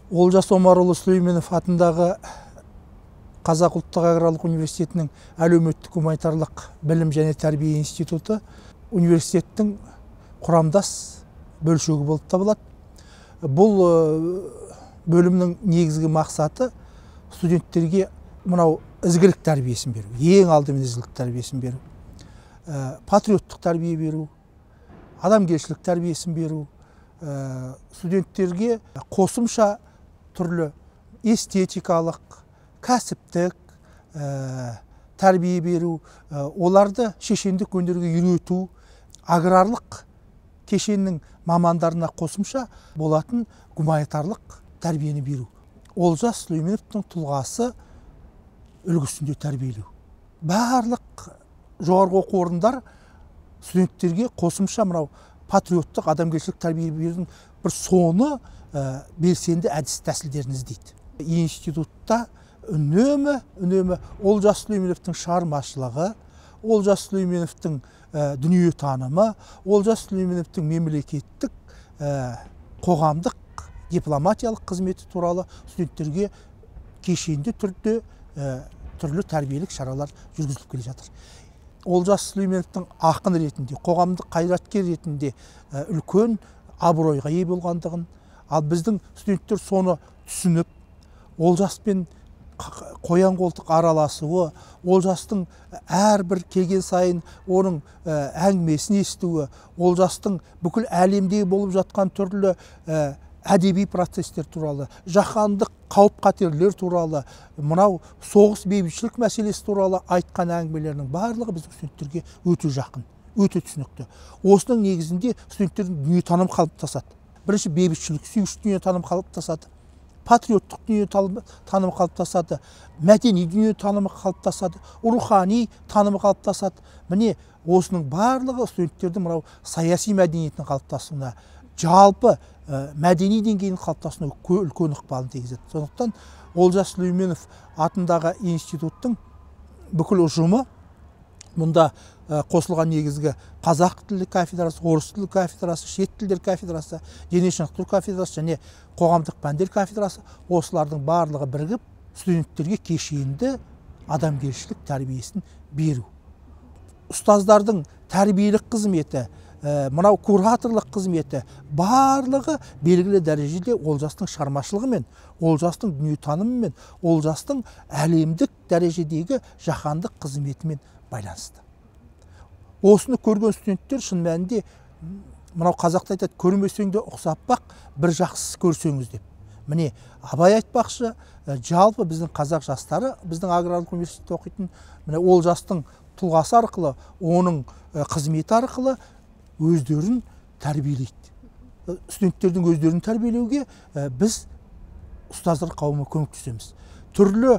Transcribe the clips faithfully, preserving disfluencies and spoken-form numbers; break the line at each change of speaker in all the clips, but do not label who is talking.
Олжас Омарұлы Сүлейменов атындағы Қазақ ұлттық аграрлық университетінің әлеуметтік гуманитарлық білім және тәрбие институты университеттің құрамдас бөлшегі болып табылады. Бұл бөлімнің негізгі мақсаты студенттерге мынау ізгілік тәрбиесін беру, ең алдымен ізгілік тәрбиесін беру, патриоттық тәрбие беру, адамгершілік тәрбиесін беру, студенттерге қосымша түрлі эстетикалық, кәсіптік тәрбие беру, оларды шешендік өнерге үйрету, аграрлық кешеннің мамандарына қосымша болатын гуманитарлық тәрбиені беру. Олжас Сүлейменовтың тұлғасы үлгісінде тәрбиелеу. Барлық жоғарғы оқу орындар студенттерге қосымша мынау патриоттық адамгершілік тәрбие берудің бір соны белсенді әдіс тәсілдерін іздейді. Институтта үнемі үнемі Олжас Сүлейменовтің шығармашылығы, Олжас Сүлейменовтің дүние танымы, Олжас Сүлейменовтің мемлекеттік қоғамдық дипломатиялық қызметі туралы студенттерге кешенді түрде түрлі тәрбиелік шаралар жүргізіліп келе жатыр. Олжас Сүлейменовтің ақын ретінде, қоғамдық қайраткер ретінде үлкен абыройға ие болғандығын, ал біздің студенттер соны түсініп, Олжаспен қоян қолтық араласуы, Олжастың әрбір келген сайын оның әңгімесін естуі, Олжастың бүкіл әлемде болып жатқан түрлі әдеби процестер туралы, жаһандық қауіп-қатерлер туралы, мынау соғыс бейбітшілік мәселесі туралы айтқан әңгімелерінің барлығы біздің студенттерге өте жақын, өте түсінікті. Осының негізінде студенттердің дүниетаным қалыптасады. Бірінші бейбітшілік сүйгіш дүниетаным қалыптасады, патриоттық дүниетаным қалыптасады, мәдени дүниетанымы қалыптасады, рухани танымы қалыптасады. Міне осының барлығы студенттердің мынау саяси мәдениетінің қалыптасуына, жалпы мәдени деңгейінің қалыптасуына үлкен ықпалын тигізеді. Сондықтан Олжас Сүлейменов атындағы институттың бүкіл ұжымы, мұнда қосылған негізгі қазақ тілі кафедрасы, орыс тілі кафедрасы, шет тілдер кафедрасы, дене шынықтыру кафедрасы және қоғамдық пәндер кафедрасы, осылардың барлығы бірігіп студенттерге кешенді адамгершілік тәрбиесін беру. Ұстаздардың тәрбиелік қызметі, мынау кураторлық қызметі барлығы белгілі дәрежеде Олжастың шығармашылығымен, Олжастың дүниетанымымен, Олжастың әлемдік дәрежедегі жаһандық қызметімен байланысты. Осыны көрген студенттер шын мәнінде, мынау қазақта айтады, көрмесең де ұқсап бақ, бір жақсысы көрсеңіз деп. Міне абай айтпақшы, жалпы біздің қазақ жастары, біздің аграрлық университетте оқитын міне Олжастың тұлғасы арқылы, оның қызметі арқылы өздерін тәрбиелейді. Студенттердің өздерін тәрбиелеуге біз ұстаздар қауымы көмектесеміз. Түрлі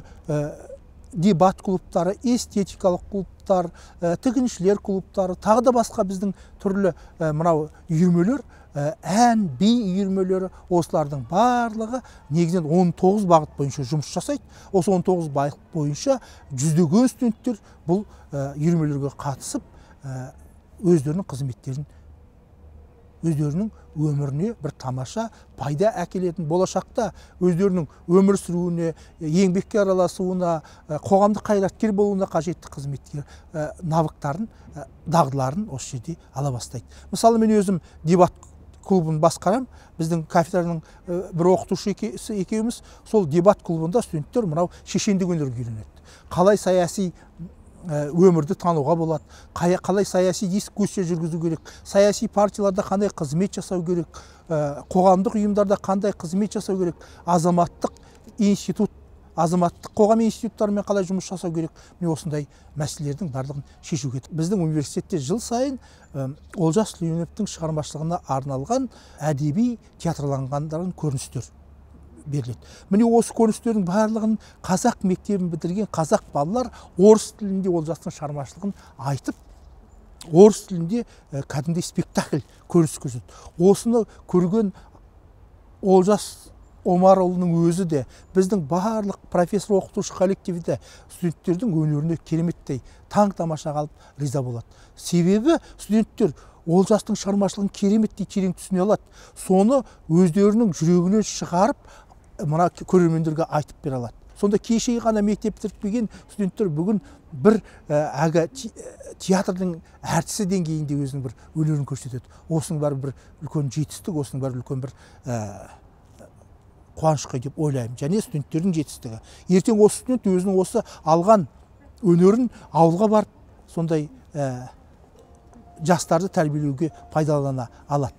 дебат клубтары, эстетикалық клубтар, тігіншілер клубтары, тағы да басқа біздің түрлі мынау үйірмелер, ән, би үйірмелері, осылардың барлығы негізінен он тоғыз бағыт бойынша жұмыс жасайды. Осы он тоғыз бағыт бойынша жүздеген студенттер бұл үйірмелерге қатысып, өздерінің қызметтерін, өздерінің өміріне бір тамаша пайда әкелетін, болашақта өздерінің өмір сүруіне, еңбекке араласуына, қоғамдық қайраткер болуына қажетті қызметкер навыктарын, дағдыларын осы жерде ала бастайды. Мысалы, мен өзім дебат клубын басқарам, біздің кафедраның бір оқытушы екеуміз, сол дебат клубында студенттер мынау шешендік өнерге үйренеді. Қалай саяси өмірді тануға болады, қалай саяси дискуссия жүргізу керек, саяси партияларда қандай қызмет жасау керек, қоғамдық ұйымдарда қандай қызмет жасау керек, азаматтық институт, азаматтық қоғам институттарымен қалай жұмыс жасау керек, міне осындай мәселелердің барлығын шешуге. Біздің университетте жыл сайын Олжас Сүлейменовтің шығармашылығына арналған әдеби театрланғандарын көріністер беріледі. Міне осы көріністердің барлығын қазақ мектебін бітірген қазақ балалар орыс тілінде Олжастың шығармашылығын айтып, орыс тілінде кәдімгідей спектакль көрініс көрсетеді. Осыны көрген Олжас Омарұлының өзі де, біздің барлық профессор оқытушы коллективі де студенттердің өнеріне кереметтей таң тамаша қалып риза болады. Себебі студенттер Олжастың шығармашылығын кереметтей терең түсіне алады. Соны өздерінің жүрегінен шығарып, мына көрермендерге айтып бере алады. Сонда кеше ғана мектеп бітірген студенттер бүгін бір әгі театрдың әртісі деңгейінде өзінің бір өнерін көрсетеді. Осының бәрі бір үлкен жетістік, осының бәрі үлкен бір қуанышқа деп ойлаймын. Және студенттердің жетістігі. Ертең осы студент өзінің осы алған өнерін ауылға барып, сондай жастарды тәрбиелеуге пайдалана алады.